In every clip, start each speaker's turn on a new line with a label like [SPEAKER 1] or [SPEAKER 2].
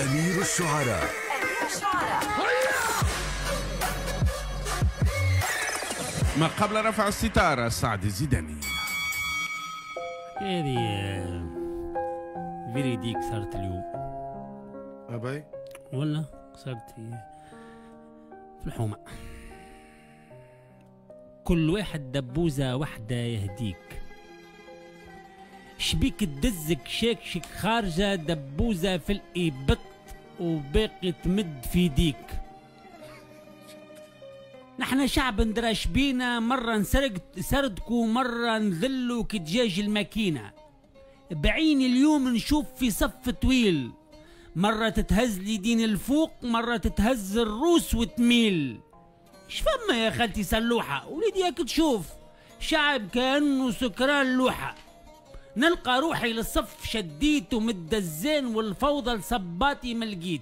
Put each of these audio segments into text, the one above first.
[SPEAKER 1] أمير الشعراء.
[SPEAKER 2] ما قبل رفع الستارة سعد الزيداني.
[SPEAKER 3] هذه véridique صارت اليوم.
[SPEAKER 4] أبي
[SPEAKER 3] ولا صارت في الحومة. كل واحد دبوزة وحدة يهديك، شبيك تدزك شاكشك خارجة دبوزة في الإبط وباقي تمد في ديك. نحن شعب ندراش بينا، مرة نسرق سردكو مرة نذلو كدجاج الماكينة. بعيني اليوم نشوف في صف طويل، مرة تتهز اليدين الفوق مرة تتهز الروس وتميل. شفما يا خالتي سلوحة وليدي ياك تشوف شعب كأنه سكران لوحة. نلقى روحي للصف شديت ومدزان والفوضى لصباتي ملقيت.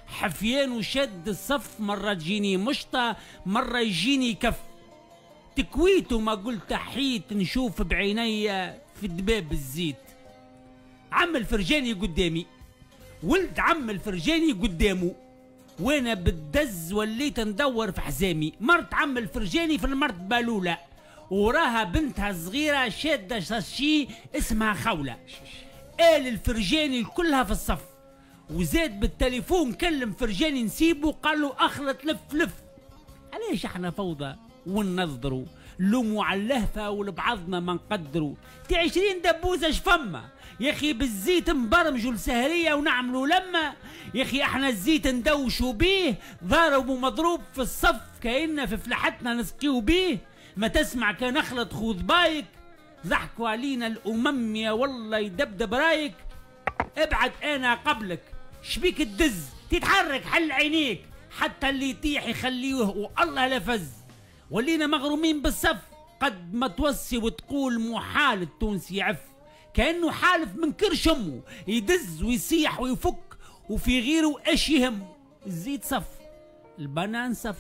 [SPEAKER 3] حفيان وشد الصف، مرة تجيني مشطة مرة يجيني كف. تكويت وما قلت حيت نشوف بعيني في دباب الزيت. عم الفرجاني قدامي، ولد عم الفرجاني قدامه، وانا بالدز وليت ندور في حزامي. مرت عم الفرجاني في المرتبة الأولى، وراها بنتها الصغيرة شادة شاشي اسمها خولة. آل الفرجاني كلها في الصف، وزاد بالتليفون كلم فرجاني نسيبه قال له اخلط لف لف. علاش احنا فوضى وننظروا لوموا على اللهفة ولبعضنا ما نقدروا؟ تي 20 دبوزة شفما يا اخي، بالزيت نبرمجوا السهرية ونعملوا لما يا اخي. احنا الزيت ندوشوا بيه، ضارب ومضروب في الصف كأننا في فلاحتنا نسقيو بيه. ما تسمع كان اخلط خوذ بايك، ضحكوا علينا الامم يا والله يدبدب رايك. ابعد انا قبلك شبيك تدز، تتحرك حل عينيك، حتى اللي يطيح يخليه والله لفز. ولينا مغرومين بالصف، قد ما توصي وتقول محال التونسي يعف، كأنه حالف من كرش امه، يدز ويصيح ويفك وفي غيره اش يهمه. الزيت صف، البنان صف،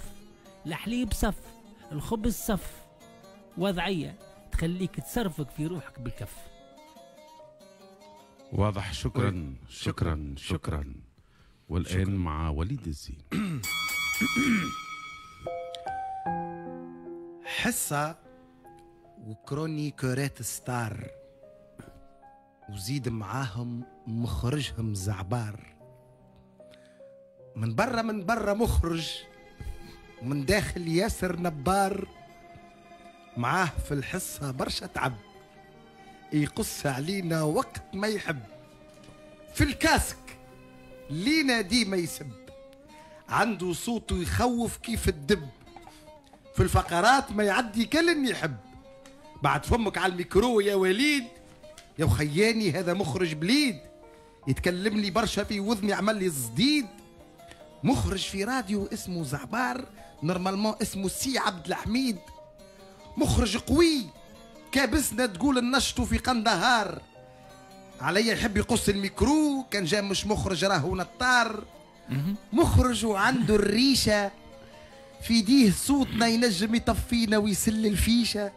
[SPEAKER 3] الحليب صف، الخبز صف. وضعية تخليك تصرفك في روحك بالكف.
[SPEAKER 2] واضح. شكرا شكرا شكرا. والآن شكرا. مع وليد الزين.
[SPEAKER 4] حصة و chroniqueur ات star، وزيد معاهم مخرجهم زعبار. من برا من برا مخرج، ومن داخل ياسر نبار. معاه في الحصة برشا تعب، يقص علينا وقت ما يحب. في ال casque لينا ديما يسب، عنده صوته يخوف كيف الدب. في الفقرات ما يعدي كلن يحب. بعد فمك على الميكرو يا وليد يا وخياني، هذا مخرج بليد. يتكلم لي برشا في وذني عمل لي الزديد. مخرج في راديو اسمه زعبار، normalement اسمه سي عبد الحميد. مخرج قوي كابسنا تقول النشط في قندهار. عليا يحب يقص الميكرو، كان جا مش مخرج راهو نطار. مخرج وعنده الريشة في ديه، صوتنا ينجم يطفينا ويسل الفيشة.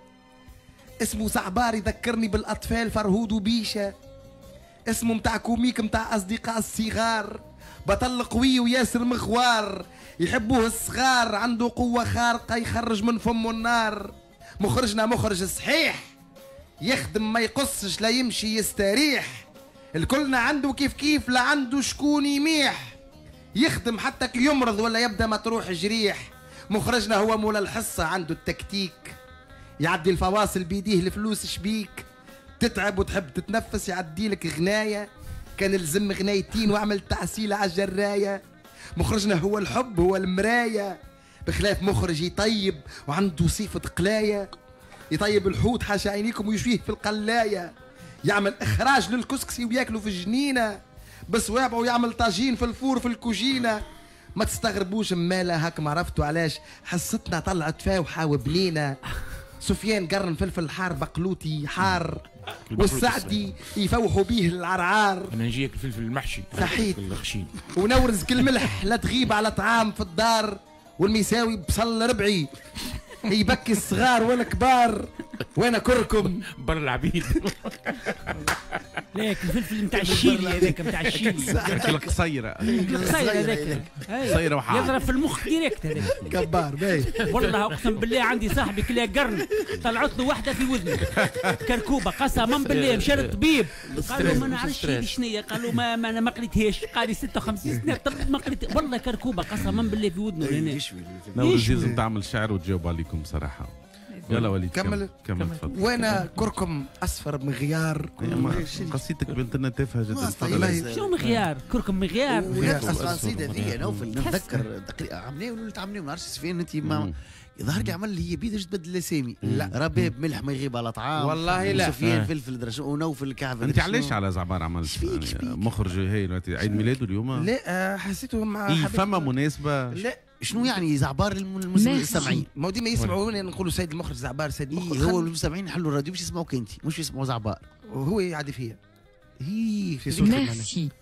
[SPEAKER 4] اسمه زعبار يذكرني بالأطفال فرهود وبيشة. اسمه متاع comique متاع أصدقاء الصغار. بطل قوي وياسر مغوار، يحبوه الصغار، عنده قوة خارقة يخرج من فمه النار. مخرجنا مخرج صحيح، يخدم ما يقصش لا يمشي يستريح. الكلنا عنده كيف كيف، لا عنده شكون يميح. يخدم حتى كي يمرض ولا يبدا مطروح جريح. مخرجنا هو مولا الحصة، عنده التكتيك، يعدي الفواصل بيديه الفلوس شبيك. تتعب وتحب تتنفس يعدي لك غناية، كان الزم غنايتين واعمل تعسيلة على الجراية. مخرجنا هو الحب هو المراية، بخلاف مخرج يطيب وعنده صفة قلاية. يطيب الحوت حاشا عينيكم ويشويه في القلاية. يعمل إخراج للكسكسي وياكله في الجنينة، بصوابعه ويعمل طاجين في ال four في الكوجينة. ما تستغربوش مالا هاك ما عرفتوا علاش حصتنا طلعت فاوحة وبنينة. سفيان قرن فلفل حار بقلوتي حار، والسعدي يفوحوا بيه العرعار.
[SPEAKER 5] انا نجيك الفلفل المحشي
[SPEAKER 4] صحيت ونورز كل ملح لا تغيب على طعام في الدار. والميساوي بصل ربعي يبكي الصغار والكبار. وانا كركم
[SPEAKER 1] بر العبيد.
[SPEAKER 3] ليك الفلفل نتاع الشيلي هذاك، نتاع الشيلي
[SPEAKER 2] القصيرة،
[SPEAKER 3] القصيرة هذاك
[SPEAKER 2] قصيرة وحار
[SPEAKER 3] يضرب في المخ direct هذاك.
[SPEAKER 4] كبار باهي
[SPEAKER 3] والله اقسم بالله. عندي صاحبي كلا قرن طلعت له واحدة في وذنه كركوبه، قسما بالله مشى للطبيب قال له ما نعرفش شنو، قال له ما انا ما قريتهاش، قال لي 56 سنة طب ما قريت والله كركوبه قسما بالله في ودنه هنا.
[SPEAKER 2] نورس لازم تعمل شعر وتجاوب عليكم صراحة. يلا وليد كمل كمل تفضل.
[SPEAKER 4] وانا كركم اصفر مغيار.
[SPEAKER 2] قصيدتك بنت لنا تافهة جدا.
[SPEAKER 3] شنو مغيار؟ كركم مغيار.
[SPEAKER 5] القصيدة ذي نوفل نتذكر تقريبا عملناه ولا عملناه ما نعرفش سفيان انت ما ظهر لي عمل هي بيدش تبدل الاسامي. لا رباب ملح ما يغيب على طعام
[SPEAKER 4] والله. لا
[SPEAKER 5] سفيان فلفل درش ونوفل كعب.
[SPEAKER 2] انت علاش على زعبار عملت مخرج هايل عيد ميلاده اليوم؟
[SPEAKER 4] لا حسيته مع
[SPEAKER 2] فما مناسبة.
[SPEAKER 4] لا
[SPEAKER 5] شنو يعني زعبار للمستمعين؟
[SPEAKER 4] ما ديما يسمعوني نقولوا سيد المخرج زعبار سيد المخرج.
[SPEAKER 5] هو المستمعين يحلوا الراديو باش يسمعوك انت، مش يسمعوا زعبار.
[SPEAKER 4] وهو يعدي فيا
[SPEAKER 5] هي
[SPEAKER 4] في صوتك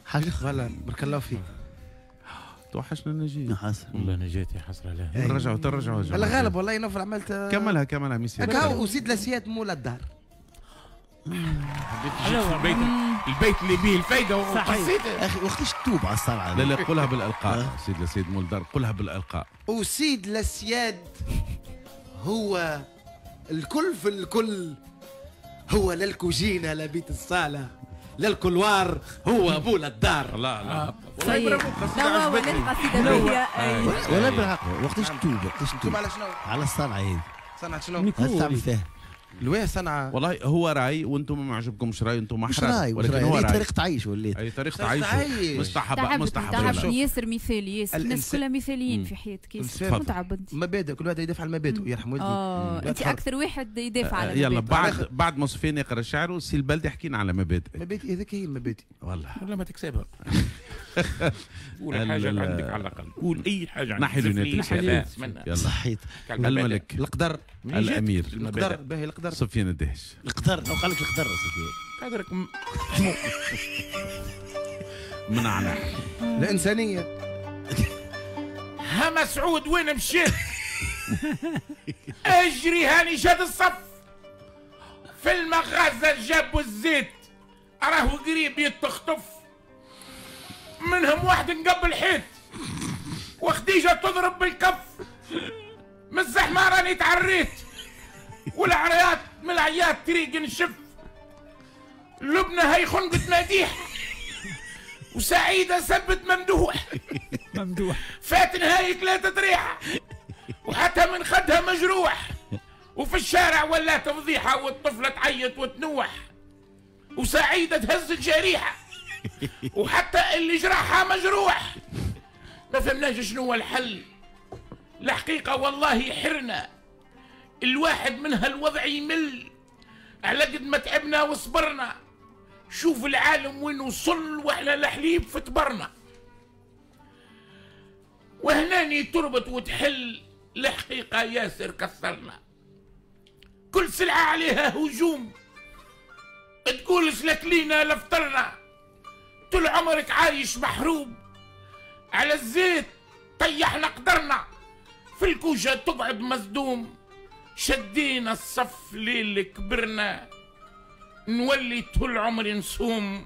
[SPEAKER 4] حاجة. voilà بارك الله فيك.
[SPEAKER 2] توحشنا نجيب
[SPEAKER 5] حسرة
[SPEAKER 1] والله نجاتي حسرة. لا
[SPEAKER 2] نرجعوا ترجعوا
[SPEAKER 4] الله غالب والله نوفل عملت. كملها كملها ميسي. هكا وزيد لسياد مولا الدار.
[SPEAKER 1] البيت البيت اللي به الفايدة وقصيده.
[SPEAKER 5] اخي وقتاش تتوب على الصنعة؟
[SPEAKER 2] لا لا قولها بالالقاء. سيد لسيد مول الدار قولها بالالقاء.
[SPEAKER 4] وسيد لسياد هو الكل في الكل، هو لا الكوجينه لا بيت الصاله لا ال couloir، هو مول الدار.
[SPEAKER 2] لا لا
[SPEAKER 6] والله برافو قصيدة عجبتني. قصيدة
[SPEAKER 5] ولا بالحق وقتاش تتوب؟ وقتاش تتوب
[SPEAKER 4] على شنو؟
[SPEAKER 5] على الصنعة هذه.
[SPEAKER 4] صنعه شنو؟
[SPEAKER 5] تعمل فيها
[SPEAKER 4] الواه صنعة.
[SPEAKER 2] والله هو راي وانتم ما عجبكمش راي، انتم
[SPEAKER 5] مش راي، ولكن هو راي. طريقة عيش وليت.
[SPEAKER 2] اي طريقة عيش مستحب مستحب.
[SPEAKER 6] ياسر مثالي، ياسر الناس كلها مثاليين في حياتك، ياسر متعب انت.
[SPEAKER 4] مبادئ كل واحد يدافع على مبادئه يرحم والدي.
[SPEAKER 6] انت اكثر واحد يدافع على مبادئه.
[SPEAKER 2] يلا بعد ما سفيان يقرا شعره سي البلدي حكينا على مبادئ.
[SPEAKER 4] مبادئ هذيك هي المبادئ.
[SPEAKER 2] والله
[SPEAKER 1] ولا ما تكسبها. قول حاجة عندك على الأقل، قول أي حاجة عندك.
[SPEAKER 2] نحي لوناتك.
[SPEAKER 5] صحيت.
[SPEAKER 2] الملك
[SPEAKER 4] القدر
[SPEAKER 2] الأمير
[SPEAKER 4] القدر باهي القدر.
[SPEAKER 2] سفيان الدهش
[SPEAKER 5] القدر لو قال لك القدر سفيان
[SPEAKER 1] قدرك
[SPEAKER 2] منعنا
[SPEAKER 4] الإنسانية.
[SPEAKER 1] ها مسعود وين مشيت؟ اجري هاني شاد الصف في المغازة جابوا الزيت راهو قريب يتخطف منهم واحد نقب الحيط وخديجة تضرب بالكف من الزحمة راني تعريت والعريات من العياط طريق نشف لبنى هي خنقة مديح وسعيدة سبت ممدوح
[SPEAKER 3] ممدوح
[SPEAKER 1] فات نهاية ثلاثة ريحة وحتى من خدها مجروح وفي الشارع ولا تفضيحة والطفلة تعيط وتنوح وسعيدة تهز الجريحة وحتى اللي جرحها مجروح. ما فهمناش شنو هو الحل الحقيقة والله حرنا، الواحد من هالوضع يمل على قد ما تعبنا وصبرنا. شوف العالم وين وصل واحنا الحليب في تبرنا وهناني تربط وتحل. الحقيقة ياسر كسرنا، كل سلعة عليها هجوم تقول سلك لينا لفطرنا. طول عمرك عايش محروب على الزيت طيحنا قدرنا، في الكوشة تقعد مصدوم. شدينا الصف ليل كبرنا نولي طول عمري نصوم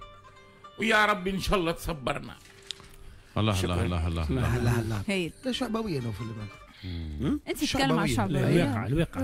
[SPEAKER 1] ويا ربي ان شاء الله تصبرنا.
[SPEAKER 2] الله الله الله الله
[SPEAKER 4] الله الله.
[SPEAKER 6] هايل.
[SPEAKER 4] لا شعبويه نوفل.
[SPEAKER 6] انت تتكلم على الشعبوية.
[SPEAKER 3] الواقع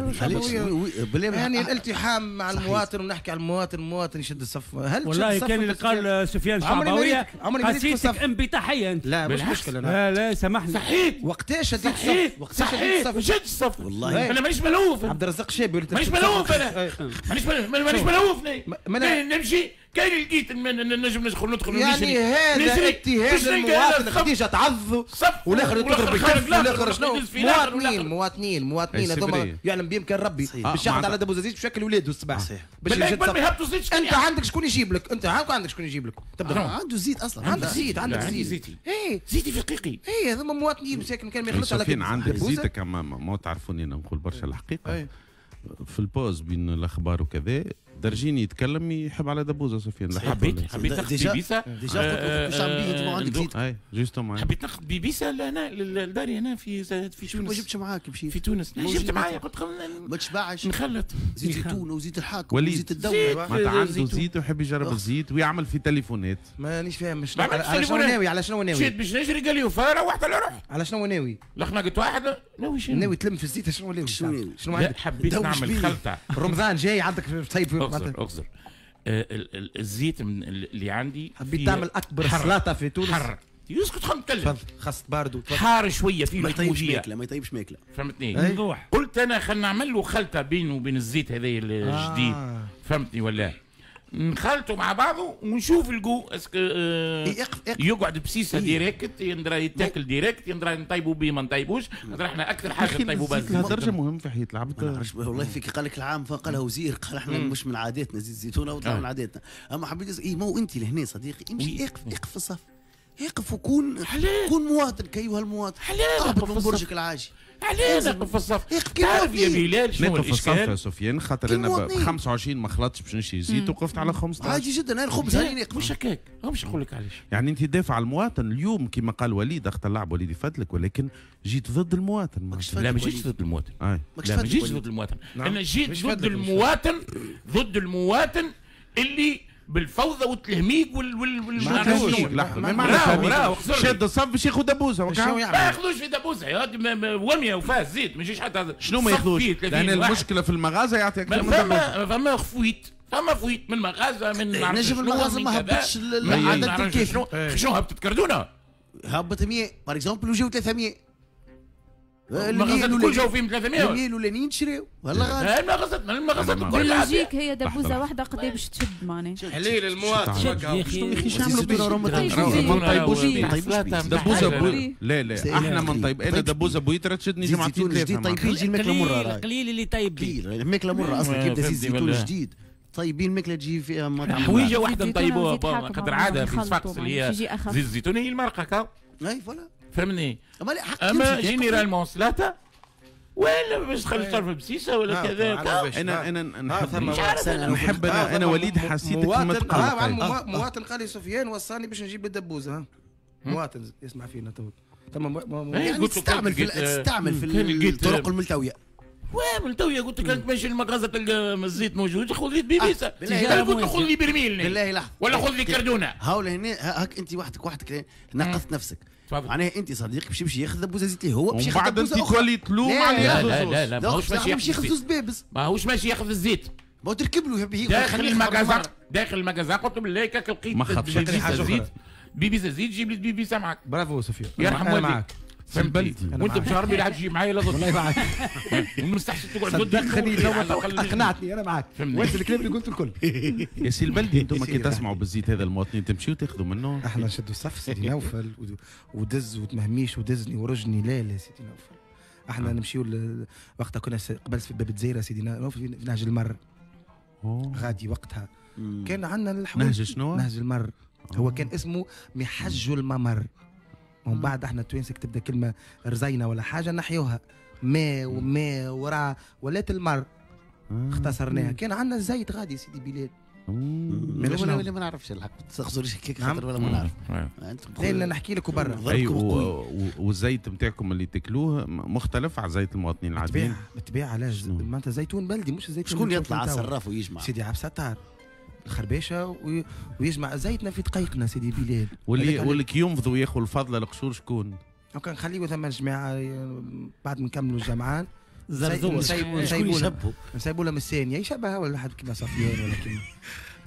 [SPEAKER 4] يعني الالتحام مع المواطن ونحكي على المواطن، المواطن يشد الصف. هل
[SPEAKER 3] والله كان اللي قال سفيان شعبويه قصيدتك انبطاحيه انت.
[SPEAKER 4] لا مش مشكلة.
[SPEAKER 3] لا لا سامحني.
[SPEAKER 1] صحيت.
[SPEAKER 4] وقتاش شديت الصف؟ وقتاش شديت الصف؟
[SPEAKER 1] شديت الصف
[SPEAKER 5] والله.
[SPEAKER 1] انا مانيش ملهوف.
[SPEAKER 4] عبد الرزاق شابي
[SPEAKER 1] مانيش ملهوف انا. مانيش ملهوف. نمشي كاين لقيت نجم ندخل
[SPEAKER 4] يعني هذا اتهام المواطن. خديجة تعض والاخر يضرب بالكف والاخر شنو. مواطنين مواطنين مواطنين هذوما يعلم بهم كان ربي باش ياخذ على دبوز زيت بشكل ولاده الصباح باش يجد. انت عندك شكون يجيب لك؟ انت عندك شكون يجيب لك؟
[SPEAKER 5] تبدا عنده زيت اصلا.
[SPEAKER 4] عندك زيت، عندك زيت. اي
[SPEAKER 1] زيتي في دقيقي.
[SPEAKER 4] اي هذوما مواطنين مساكن كان ما يخلصش على
[SPEAKER 2] عندك زيتك. ما تعرفوني انا نقول برشا الحقيقة في ال pause بين الاخبار وكذا درجيني يتكلم يحب على دبوزه سفيان.
[SPEAKER 1] حبيت ناخذ بيبيسه
[SPEAKER 5] déjà قلت باش تعمل بيه انت ما عندك زيت.
[SPEAKER 2] اي justement
[SPEAKER 1] حبيت ناخذ بيبيسه لهنا لداري هنا في تونس.
[SPEAKER 5] ما جبتش معاك مشيت
[SPEAKER 1] في تونس. جبت معايا قلت
[SPEAKER 5] ما تشبعش
[SPEAKER 1] نخلط
[SPEAKER 5] زيت زيتون وزيت الحاكم وزيت الدولة.
[SPEAKER 2] معناتها عنده زيت ويحب يجرب الزيت ويعمل في تليفونات.
[SPEAKER 4] مانيش فاهم على شنو ناوي، على شنو ناوي.
[SPEAKER 1] مشيت باش نجري قال لي وفا روحت على روحي.
[SPEAKER 4] على شنو ناوي؟
[SPEAKER 1] لا خنقت واحد ناوي شنو؟
[SPEAKER 4] ناوي تلم في الزيت شنو ناوي؟ شنو عندك؟
[SPEAKER 1] حبيت نعمل خلطه.
[SPEAKER 4] رمضان جاي عندك طيب.
[SPEAKER 1] اغزر الزيت من اللي عندي.
[SPEAKER 4] حبيت تعمل اكبر سلطة في تونس.
[SPEAKER 1] حر يسكت خلينا نتكلم.
[SPEAKER 4] خاص باردو
[SPEAKER 1] حار شوية فيه
[SPEAKER 5] ما يطيبش ماكله، ما يطيبش ماكله
[SPEAKER 1] فهمتني. قلت انا خلينا نعمل له خلطه بينه وبين الزيت هذا الجديد فهمتني ولا؟ نخلطوا مع بعضه ونشوف ال goût est-ce que يقعد بسيسه direct يندرى يتاكل direct يندرى نطيبوا به ما نطيبوش. احنا اكثر حاجة نطيبوا بها الزيت.
[SPEAKER 2] الدرجة مهم في حياة العبد.
[SPEAKER 5] والله فيك قال لك العام قالها وزير قال احنا مش من عاداتنا زيت الزيتونه وطلع من عاداتنا. اما حبيت اي ما هو انت لهنا صديقي امشي اقف في الصف، اقف وكون كون مواطن كايها المواطن. اهبط من برجك العاجي.
[SPEAKER 1] علاه نقف في الصف؟ تعرف يا بلال شنو
[SPEAKER 2] نقف في الصف يا سفيان؟ خاطر انا ب 25 ما خلطتش باش نشري زيت وقفت على 15.
[SPEAKER 5] عادي جدا. انا الخبز هاني نقف.
[SPEAKER 1] مش هكاك، مش نقول لك علاش.
[SPEAKER 2] يعني انت دافع على المواطن اليوم كما قال وليد اخت اللعب وليد يفدلك، ولكن جيت ضد المواطن.
[SPEAKER 1] لا ما جيتش ضد المواطن. لا ما جيتش ضد المواطن. انا جيت ضد المواطن، ضد المواطن اللي بالفوضى والتلهميق وال
[SPEAKER 2] ما شاد الصف باش ياخذ دبوزه.
[SPEAKER 1] ما ياخذوش في دبوزه يا ومية وفاه زيت ما يجيش حتى
[SPEAKER 2] شنو ما ياخذوش. لان المشكلة في المغازه يعطيك اكثر من دبوزه.
[SPEAKER 1] فما fuite، فما fuite من مغازه من
[SPEAKER 5] نجم المغازه ما هبطش العدد الكافي.
[SPEAKER 1] شنو هبطت كردونه؟
[SPEAKER 5] هبط 100 par exemple وجاو 300.
[SPEAKER 1] المغازات الكل جاو فيهم 300.
[SPEAKER 5] 100 الاولانيين تشريو والله غالي.
[SPEAKER 1] المغازات الكل
[SPEAKER 6] logique هي دبوزه واحدة قد باش تشد معناها.
[SPEAKER 4] حليل المواطن.
[SPEAKER 2] شنو ما نطيبوش دبوزه. لا لا احنا ما نطيب. انا دبوزه بويتره تشدني جمعتين ثلاثة.
[SPEAKER 5] طيبين تجي الماكلة مرة.
[SPEAKER 3] قليل اللي طيب
[SPEAKER 5] بيه الماكلة مرة اصلا كي يبدا زيت زيتون جديد طيبين الماكلة تجي فيها مطعم.
[SPEAKER 1] حويجه واحدة نطيبوها خاطر عادة في صفاقس اللي هي زيت الزيتون هي المرقه كا.
[SPEAKER 5] اي voilà
[SPEAKER 1] فهمني. اما généralement سلاطه ولا باش تخلي طرف بسيسه ولا كذا.
[SPEAKER 2] انا نحب انا وليد حسيتك متقلق.
[SPEAKER 4] مواطن قال لي سفيان وصاني باش نجيب الدبوزه. مواطن يسمع فينا تو.
[SPEAKER 5] يعني تستعمل في الطرق الملتوية.
[SPEAKER 1] وملتويه قلت لك انت ماشي للمغازه تلقى الزيت موجود خذ لي بيبيسه. قلت له خذ لي برميل
[SPEAKER 5] بالله لحظة
[SPEAKER 1] ولا خذ لي كردونه.
[SPEAKER 5] هاو هنا هاك انت وحدك نقصت نفسك. معناها انت صديقك باش يمشي ياخذ دبوزه زيت هو باش ياخذ
[SPEAKER 2] دبوزه اخرى. ومن بعد انت تولي تلوم على
[SPEAKER 1] لا لا لا لا ماهوش
[SPEAKER 5] ماشي ياخذ زوز بابز.
[SPEAKER 1] ماهوش ماشي ياخذ الزيت.
[SPEAKER 5] ما تركب له
[SPEAKER 1] داخل ال magasin، داخل ال magasin قلت له بالله كاك لقيت بيبيسه زيت، بيبيسه زيت جيب لي بيبيسه معاك.
[SPEAKER 4] برافو سفيان
[SPEAKER 1] يرحم والديك.
[SPEAKER 2] فهمتني
[SPEAKER 1] وانت باش ربي لا تجي معايا لا ضد.
[SPEAKER 4] والله معاك.
[SPEAKER 1] ومستحسن تقعد ضدي.
[SPEAKER 4] اقنعتني انا معاك. وانت الكلام اللي قلته الكل.
[SPEAKER 2] يا سي البلدي انتم كي تسمعوا بالزيت هذا المواطنين تمشيو تاخذوا منه؟
[SPEAKER 4] احنا نشدوا الصف سيدي نوفل ودز وتمهميش ودزني ورجني. لا لا سيدي نوفل احنا نمشيو وقتها كنا قبل في باب الجزيرة سيدي نوفل في نهج المر. غادي وقتها كان عندنا الحوايج.
[SPEAKER 2] نهج شنو؟
[SPEAKER 4] نهج المر. هو كان اسمه محج الممر. ومن بعد احنا التوانسة تبدا كلمة رزينه ولا حاجة نحيوها ما وما ورا ولات المر اختصرناها. كان عندنا الزيت غادي سيدي بلال.
[SPEAKER 5] ولا ما نعرفش الحق تخزرش هكاك خاطر ولا ما نعرف.
[SPEAKER 4] لا نحكي لك وبرا.
[SPEAKER 2] والزيت نتاعكم اللي تاكلوه مختلف على زيت المواطنين العاديين؟
[SPEAKER 4] بالطبيعة. علاش؟ معناتها زيتون بلدي مش زيتون.
[SPEAKER 5] شكون يطلع على الصراف ويجمع؟
[SPEAKER 4] سيدي عبد الستار الخربيشه ويجمع زيتنا في دقيقنا سيدي بلال.
[SPEAKER 2] واللي كي ينفضوا ياخذوا الفضلة القشور شكون؟
[SPEAKER 4] وكان نخليو ثم الجماعة بعد ما نكملوا الجمعان نسيبوا لهم الثانية يشبه ولا حد كيما صفيان ولا كيما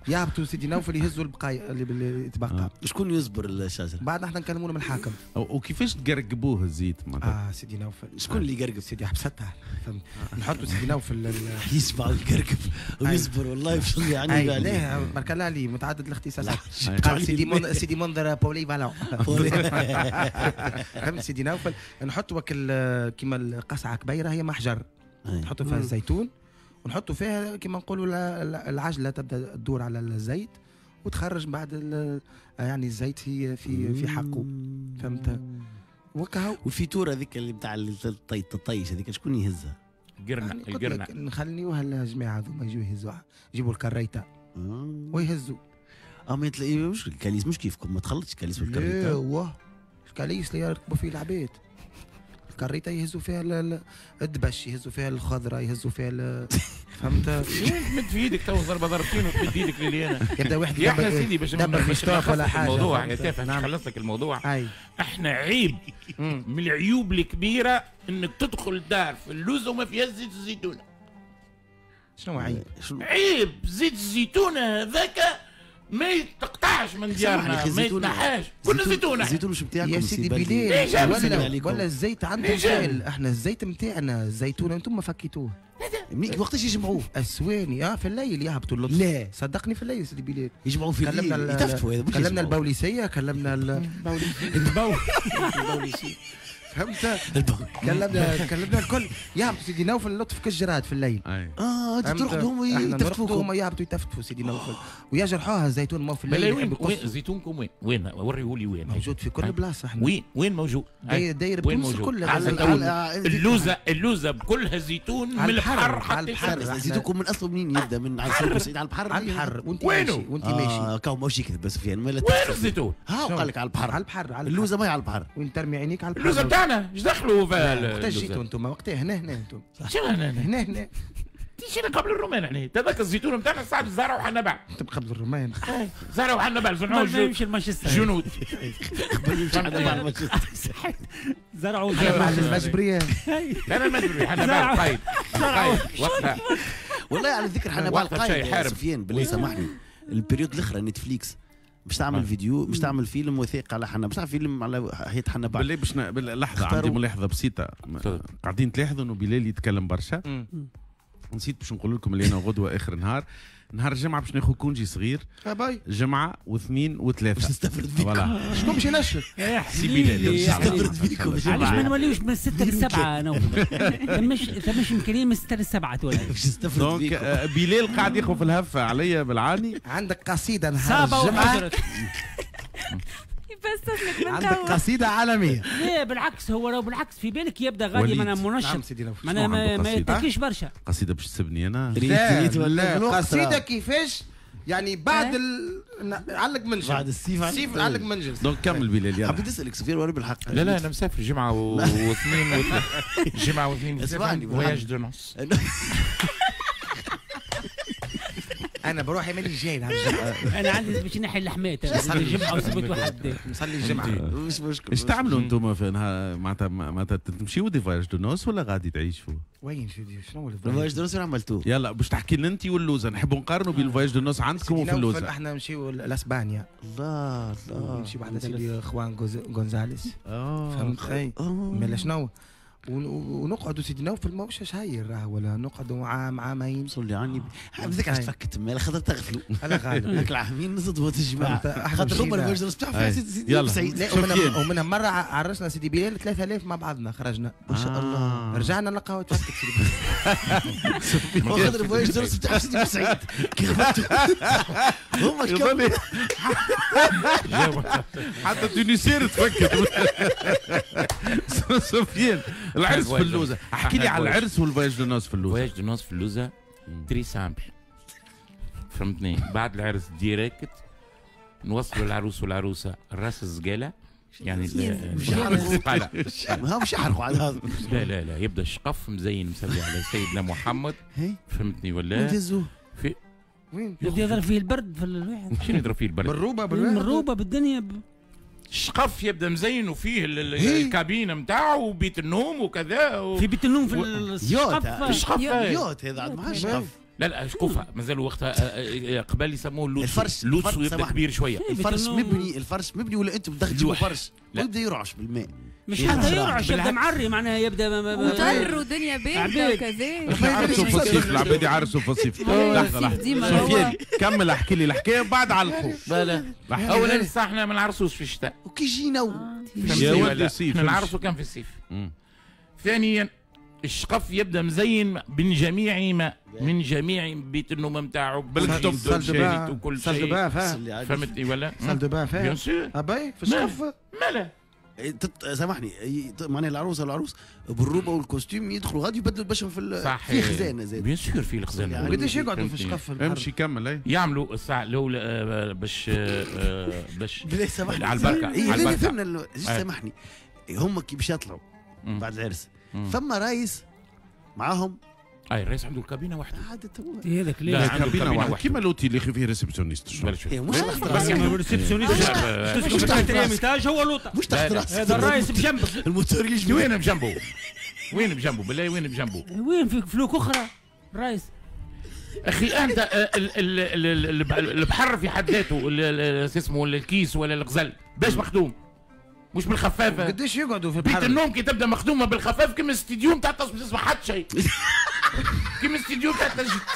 [SPEAKER 4] يهبطوا سيدي نوفل يهزوا البقايا اللي تبقى.
[SPEAKER 5] شكون يصبر الشجرة؟
[SPEAKER 4] بعد نحن نكلموا لهم الحاكم.
[SPEAKER 2] وكيفاش تقرقبوه الزيت معناتها؟
[SPEAKER 4] سيدي نوفل
[SPEAKER 5] شكون اللي يقرقب؟
[SPEAKER 4] سيدي عبد الستار. فهمت؟ نحطوا سيدي نوفل
[SPEAKER 5] يسمع ويقرقب ويصبر والله يفصل يعني.
[SPEAKER 4] لا بارك الله عليه متعدد الاختصاصات. قال سيدي منذر polyvalent. فهمت سيدي نوفل؟ نحطوا كيما القصعه كبيرة هي محجر. نحطوا فيها الزيتون ونحطوا فيها كما نقولوا العجلة تبدا تدور على الزيت وتخرج بعد يعني الزيت في في في حقه. فهمت؟ وكهو.
[SPEAKER 5] والفيتوره هذيك اللي بتاع الطيش هذيك شكون يهزها؟
[SPEAKER 1] قرنه القرنه
[SPEAKER 4] نخليوها الجماعة هذوما يجوا يهزوها، يجيبوا الكريته ويهزوا.
[SPEAKER 5] ما مش الكاليس مش كيفكم، ما تخلطش الكاليس والكريته.
[SPEAKER 4] ايوه الكاليس اللي يركبوا فيه العباد، الكريته يهزوا فيها الدبش، يهزوا فيها الخضرة، يهزوا فيها فهمت؟
[SPEAKER 1] تمد في ايدك تو ضربه ضربتين وتمد ايدك للي انا
[SPEAKER 4] يبدا واحد
[SPEAKER 1] يا احنا سيدي باش نخلص لك الموضوع يا تافه، نخلص لك الموضوع. احنا عيب من العيوب الكبيرة انك تدخل دار في اللوزه وما فيهاش زيت الزيتونه.
[SPEAKER 4] شنو عيب؟
[SPEAKER 1] عيب زيت الزيتونه هذاك ما يتقطعش من ديارنا، ما يتنحاش، كل زيتونه.
[SPEAKER 5] الزيتون مش بتاعكم
[SPEAKER 4] يا سيدي بلال، ولا الزيت عندهم سائل. احنا الزيت نتاعنا الزيتونه انتم ما فكيتوه.
[SPEAKER 5] وقتاش يجمعوه؟
[SPEAKER 4] السواني في الليل يهبطوا اللطف.
[SPEAKER 5] لا
[SPEAKER 4] صدقني في الليل سيدي بلال
[SPEAKER 5] يجمعوه في الليل، يتفتفوا. هذا
[SPEAKER 4] كلمنا البوليسيه، كلمنا البوليسيه فهمت؟ كلمنا الكل يهبطوا سيدي نوفل اللطف كالجراد في الليل.
[SPEAKER 5] انت ترقدهم ويتفتفوكم.
[SPEAKER 4] هما يهبطوا يتفتفوا سيدي نوفل ويجرحوها الزيتون ما في الليل.
[SPEAKER 1] وين زيتونكم؟ وين؟ وين وريهولي وين
[SPEAKER 4] موجود؟ في كل بلاصة احنا.
[SPEAKER 1] وين موجود؟
[SPEAKER 4] داير بتونس كلها.
[SPEAKER 1] اللوزه بكلها زيتون من البحر حتى
[SPEAKER 5] البحر. زيتونكم من اصله منين يبدا؟ من على سعيد على البحر.
[SPEAKER 4] على البحر وانت ماشي وانت ماشي.
[SPEAKER 5] كاو ماهوش يكذب بس سفيان.
[SPEAKER 1] وين الزيتون؟
[SPEAKER 5] ها قال لك على البحر.
[SPEAKER 4] على البحر.
[SPEAKER 5] اللوزه ما هي على البحر.
[SPEAKER 4] وين ترمي عينيك على البحر.
[SPEAKER 1] اللوزه بتاعنا ايش دخلوا في
[SPEAKER 4] وقتاش جيتوا انتم؟ وقتها هنا هنا انتم.
[SPEAKER 1] شنو هنا
[SPEAKER 4] هنا هنا؟
[SPEAKER 1] جينا قبل الرومان احنا، تذكر الزيتون نتاعنا ساعات زرعوا حنبع.
[SPEAKER 4] انتم قبل الرومان؟
[SPEAKER 1] زرعوا حنبع صنعوا جنود.
[SPEAKER 5] قبل يمشي حنبع المانشستر.
[SPEAKER 3] زرعوا
[SPEAKER 4] حنبع المجبرية.
[SPEAKER 1] لا لا المجبرية حنبع القايد. وقتها
[SPEAKER 5] والله على ذكر حنبع القايد سفيان بالله سامحني، ال période الاخرى نتفليكس باش تعمل فيديو، باش تعمل فيلم وثائقي على حنا، باش تعمل فيلم على حياة حنا بعد.
[SPEAKER 2] بالله باش لحظة عندي ملاحظة بسيطة. قاعدين تلاحظوا انه بلال يتكلم برشا. نسيت باش نقول لكم اللي انا غدوة اخر نهار، نهار الجمعة باش ناخذ congé صغير. جمعة واثنين وثلاثة.
[SPEAKER 5] باش نستفرد فيكم.
[SPEAKER 4] شكون باش ينشر؟
[SPEAKER 2] سي بلال.
[SPEAKER 5] نستفرد فيكم.
[SPEAKER 3] علاش ما نوليوش من 6 ل 7 نوفل؟ ثماش امكانية من 6 ل 7 تولي.
[SPEAKER 5] باش نستفرد فيكم.
[SPEAKER 2] donc بلال قاعد ياخذ في الهفة عليا بالعاني.
[SPEAKER 4] عندك قصيدة نهار الجمعة.
[SPEAKER 6] يفسر لك من
[SPEAKER 4] عندك قصيدة عالمية.
[SPEAKER 3] لا بالعكس، هو راهو بالعكس في بالك يبدا غادي معناها منشط. معناها ما يتكيش برشا.
[SPEAKER 2] قصيدة باش تسبني أنا؟
[SPEAKER 4] لا قصيدة كيفاش يعني بعد علق منجل،
[SPEAKER 5] بعد السيف
[SPEAKER 4] علق منجل.
[SPEAKER 2] donc كمل بلال يلا.
[SPEAKER 5] حبيت اسالك سفيان وانا بالحق.
[SPEAKER 1] لا لا انا مسافر جمعه واثنين وثلاثة. جمعه واثنين voyage de noces.
[SPEAKER 4] انا بروح ماني جاي نهار الجمعة.
[SPEAKER 3] انا عندي باش نحي اللحمات الجمعة وسبت وحد
[SPEAKER 4] نصلي الجمعة
[SPEAKER 5] مش مشكل.
[SPEAKER 2] ايش تعملوا انتم في نهار معناتها تمشيو des voyages de noces ولا غادي تعيشوا؟
[SPEAKER 4] وين سيدي شنو
[SPEAKER 5] ال voyage de noces وين عملتوه؟
[SPEAKER 2] يلا باش تحكي لنا انت واللوزه، نحبوا نقارنوا بين ال voyage de noces عندكم وفي اللوزه.
[SPEAKER 4] احنا نمشيو لاسبانيا.
[SPEAKER 5] الله الله.
[SPEAKER 4] نمشيو بحذا سيدي خوان غونزاليس. فهمت؟ مالا شنو؟ ونقعدوا سيدي نوفل ماهوش شهير راه، ولا نقعدوا عام عامين.
[SPEAKER 5] صلي عني بذاك علاش تفكت مالا خاطر تغفلوا.
[SPEAKER 4] انا غالب
[SPEAKER 5] هاك العامين نصدموا الجماعة خاطر هما ال voyage de noces بتاعهم سيدي سعيد.
[SPEAKER 4] ومنها مرة عرسنا سيدي بلال 3000 مع بعضنا خرجنا
[SPEAKER 5] ما شاء الله.
[SPEAKER 4] رجعنا نلقاو تفكت سيدي
[SPEAKER 5] بلال. خاطر ال voyage de noces بتاعهم سيدي سعيد كي غفلتوا هما
[SPEAKER 2] حتى تونسير تفكت. سفيان العرس في اللوزه، احكي لي على العرس وال voyage de noces في اللوزه.
[SPEAKER 1] voyage de noces في اللوزه très simple فهمتني. بعد العرس direct نوصلوا العروس والعروسه راس الزقاله، يعني الزقاله
[SPEAKER 5] ما مش يحرقوا على هذا.
[SPEAKER 1] لا لا لا يبدا الشقف مزين مسلي على سيدنا محمد فهمتني ولا؟ في
[SPEAKER 4] وين
[SPEAKER 3] يبدا يضرب فيه البرد في الواحد.
[SPEAKER 1] شنو يضرب فيه البرد؟
[SPEAKER 4] بالروبه بالروبه
[SPEAKER 3] بالدنيا.
[SPEAKER 1] الشقف يبدا مزين وفيه الكابينه نتاعو وبيت النوم وكذا
[SPEAKER 3] في بيت النوم في الشقف.
[SPEAKER 1] الشقف
[SPEAKER 5] yacht هذا عاد ما شقف.
[SPEAKER 1] لا لا شقوفه مازالوا وقتها قبل يسموه اللوتسو.
[SPEAKER 5] الفرش
[SPEAKER 1] اللوتسو يبدا كبير شوية.
[SPEAKER 5] الفرش مبني، الفرش مبني ولا انتم تدخلوا فرش ويبدا يرعش بالماء؟
[SPEAKER 3] مش حتى يرعش يبدا معري معناها يبدا
[SPEAKER 6] مطر ودنيا باردة وكذا.
[SPEAKER 2] عرسوا في الصيف العباد يعرسوا في الصيف. لحظة لحظة سفيان كمل احكي لي الحكاية بعد علقوا.
[SPEAKER 1] لا لا اولا صح احنا ما نعرسوش في الشتاء
[SPEAKER 5] وكي جينا
[SPEAKER 2] يا ولد الصيف
[SPEAKER 1] نعرسوا كان في الصيف. ثانيا الشقف يبدا مزين من جميع ما من جميع بيت النوم نتاعو
[SPEAKER 2] بالكتب
[SPEAKER 1] وكل شيء. فهمتني ولا؟
[SPEAKER 4] salle de bain فيها
[SPEAKER 1] bien sûr
[SPEAKER 4] ابي في الشقف
[SPEAKER 1] مالا
[SPEAKER 5] سامحني معناها العروسة والعروس بالروبه وال costume يدخلوا غادي يبدلوا بشهم في في خزانه زاد.
[SPEAKER 1] bien sûr في الخزانة.
[SPEAKER 4] يعني قداش يقعدوا في شقف البحر؟
[SPEAKER 2] امشي كمل.
[SPEAKER 1] يعملوا الساعة الاولى باش باش
[SPEAKER 5] سامحني
[SPEAKER 1] على البركة.
[SPEAKER 5] على البركة فهمنا. سامحني هم كي باش يطلعوا بعد العرس ثم رايس معاهم.
[SPEAKER 1] اي الرئيس عنده الكابينه وحده.
[SPEAKER 3] هذاك
[SPEAKER 2] لا الكابينه وحده كيما l'hôtel اللي فيه réceptionniste.
[SPEAKER 5] مش
[SPEAKER 3] بس réceptionniste مش تحت étage هو لوطه
[SPEAKER 5] مش تحت راسك.
[SPEAKER 3] هذا الرئيس بجنبك
[SPEAKER 5] الموتور يجي.
[SPEAKER 1] وين بجنبه؟ وين بجنبه بالله؟ وين بجنبه؟
[SPEAKER 3] وين في فلوك اخرى الرئيس؟
[SPEAKER 1] اخي انت البحر في حد ذاته اسمه الكيس ولا الغزل باش مخدوم مش بالخفافه.
[SPEAKER 4] قداش يقعدوا في البحر؟
[SPEAKER 1] بيت النوم كي تبدا مخدومة بالخفاف كيما الاستديو نتاع تسمع حتى شيء. كيما الاستديو نتاع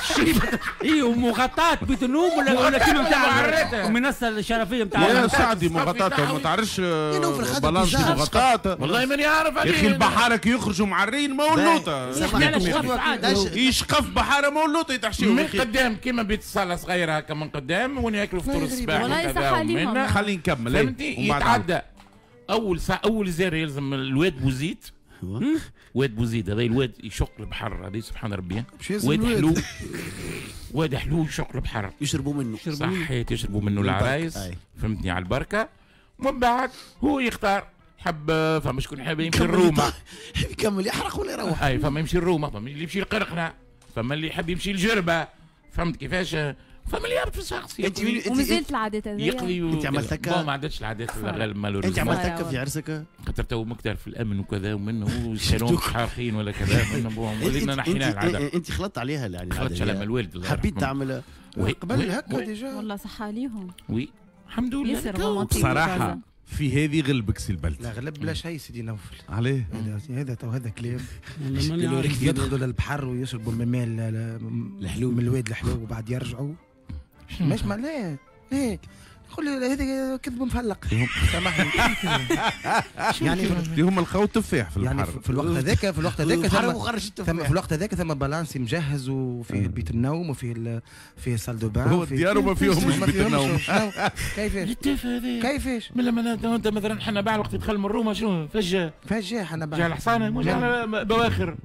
[SPEAKER 1] الشريف.
[SPEAKER 3] اي ومغطاة بيت النوم ولا كيما نتاع المنصة الشرفيه نتاع
[SPEAKER 2] يا سعدي مغطاة ما تعرفش balance مغطاة.
[SPEAKER 1] والله ماني عارف عليه
[SPEAKER 2] يا اخي. البحارة كي يخرجوا معرين ما هو اللوطه يشقف بحارة ما هو اللوطه يتحشيو
[SPEAKER 1] من قدام كيما بيت الصاله صغيرة هكا من قدام وين ياكلوا فطور الصباح.
[SPEAKER 6] والله صح عليهم.
[SPEAKER 2] خلينا نكمل.
[SPEAKER 1] فهمتي؟ يتعدى اول ساعة اول زيارة يلزم الواد بوزيد. واد بوزيد هذا الواد يشق البحر هذا سبحان ربي. واد حلو واد حلو يشق البحر
[SPEAKER 5] يشربوا منه.
[SPEAKER 1] صحيت يشربوا منه العرايس فهمتني على البركة. ومن بعد هو يختار حب فما شكون حاب يمشي لروما
[SPEAKER 5] يكمل يحرق ولا يروح.
[SPEAKER 1] اي فما يمشي لروما، فما اللي يمشي لقرقنه، فما اللي يحب يمشي لجربه، فهمت كيفاش؟ فما اللي يهبط في الشخص.
[SPEAKER 6] ومازالت العادات هذه
[SPEAKER 1] يقضي.
[SPEAKER 5] انت عملت هكا؟
[SPEAKER 1] ما عادتش العادات الغالب.
[SPEAKER 5] انت عملت هكا في عرسك؟
[SPEAKER 1] خاطر تو مكتر في الامن وكذا ومنه والشالون حارقين ولا كذا ولينا نحينا العادة.
[SPEAKER 5] انت خلطت عليها يعني؟
[SPEAKER 1] خلطت على الوالد.
[SPEAKER 5] حبيت تعمل
[SPEAKER 4] قبل هكا déjà؟
[SPEAKER 6] والله صح عليهم.
[SPEAKER 1] oui الحمد لله.
[SPEAKER 2] بصراحة في هذه غلبك سي البلد.
[SPEAKER 4] لا غلب بلا شيء سيدي نوفل.
[SPEAKER 2] عليه؟
[SPEAKER 4] هذا تو هذا كلام يدخلوا للبحر ويشربوا من الماء الحلو من الواد الحلو وبعد يرجعوا. مش معناه ليه؟ قول لي هذا كذب مفلق. سامحني.
[SPEAKER 2] يعني هم لقاو التفاح في البحر.
[SPEAKER 4] يعني في الوقت هذاك في الوقت هذاك ثم في الوقت هذاك ثم balance مجهز وفيه بيت النوم وفيه فيه salle de bain.
[SPEAKER 2] هو الديار وما فيهمش بيت النوم.
[SPEAKER 4] كيفاش؟ كيفاش؟
[SPEAKER 1] من لما انت مثلا حنا بعد وقت دخل من روما شنو فجاة؟
[SPEAKER 4] فجاة حنا بعد.
[SPEAKER 1] جا الحصانة مش بواخر.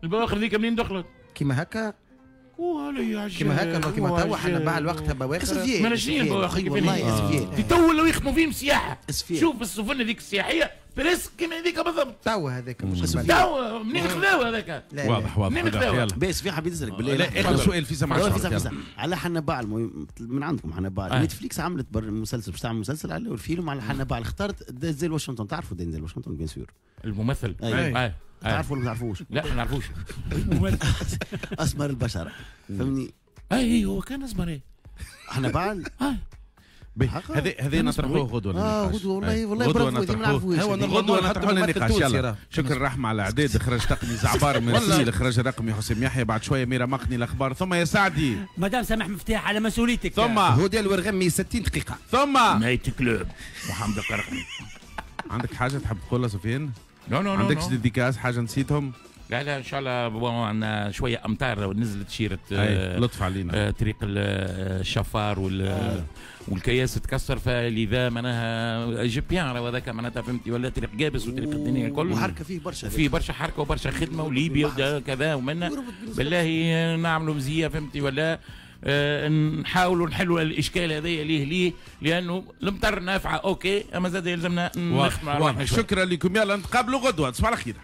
[SPEAKER 1] البواخر ذيك منين دخلت؟
[SPEAKER 4] كيما هكا كيما هكا كيما توا حنا بعد وقتها بواخر.
[SPEAKER 1] ما شنو البواخر
[SPEAKER 5] والله اسفيال
[SPEAKER 1] تو ولاو يخدموا فيهم سياحة. شوف السفن هذيك السياحية presque كيما هذيك بالضبط.
[SPEAKER 4] توا هذاك
[SPEAKER 1] توا منين خذاو هذاك؟
[SPEAKER 2] واضح واضح.
[SPEAKER 1] منين خذاو؟
[SPEAKER 5] بس في حبيت نسالك بالله.
[SPEAKER 2] لا اخر سؤال في سمع
[SPEAKER 5] على حنبعل من عندكم حنبعل. نتفليكس عملت مسلسل باش تعمل مسلسل على الفيلم على حنبعل، اختارت دينزل واشنطن. تعرفوا دينزل واشنطن bien sûr
[SPEAKER 1] الممثل؟
[SPEAKER 5] تعرفوا ولا ما تعرفوش؟
[SPEAKER 1] لا ما نعرفوش.
[SPEAKER 5] اسمر البشرة فهمني؟
[SPEAKER 1] اي هو كان اسمر. ايه
[SPEAKER 5] حنبعل؟
[SPEAKER 2] هذا نطرحوه غدوه.
[SPEAKER 5] غدوه والله والله برافو ما نعرفوش.
[SPEAKER 2] غدوه نطرحوه النقاش. يلا شكرا رحمه على الاعداد. اخراج تقني زعبار مرسي، الاخراج الرقمي حسام يحيى، بعد شوية ميرا مقني الاخبار، ثم يا سعدي
[SPEAKER 3] مدام سامح مفتاح على مسؤوليتك،
[SPEAKER 2] ثم
[SPEAKER 4] هدى الورغمي 60 دقيقة،
[SPEAKER 2] ثم
[SPEAKER 1] night club محمد القرقني.
[SPEAKER 2] عندك حاجة تحب تقولها سفيان؟
[SPEAKER 1] non non
[SPEAKER 2] عندكش dédicaces حاجة نسيتهم؟
[SPEAKER 1] لا لا ان شاء الله عندنا شوية امطار نزلت شيره
[SPEAKER 2] لطف علينا
[SPEAKER 1] طريق الشفار والكياس تكسر، فلذا معناها جيبيان هذاك معناتها فهمتي، ولا طريق جابس وطريق الدنيا الكل
[SPEAKER 5] وحركه فيه برشا،
[SPEAKER 1] فيه برشا حركة وبرشا خدمة وليبيا وكذا ومنا بالله نعملوا مزية فهمتي، ولا نحاولوا نحلوا الاشكال هذايا ليه لانه المطر نافعة OK، اما زاد يلزمنا نخدموا.
[SPEAKER 2] شكرا لكم، يلا نتقابلوا غدوه، تصبحوا على خير.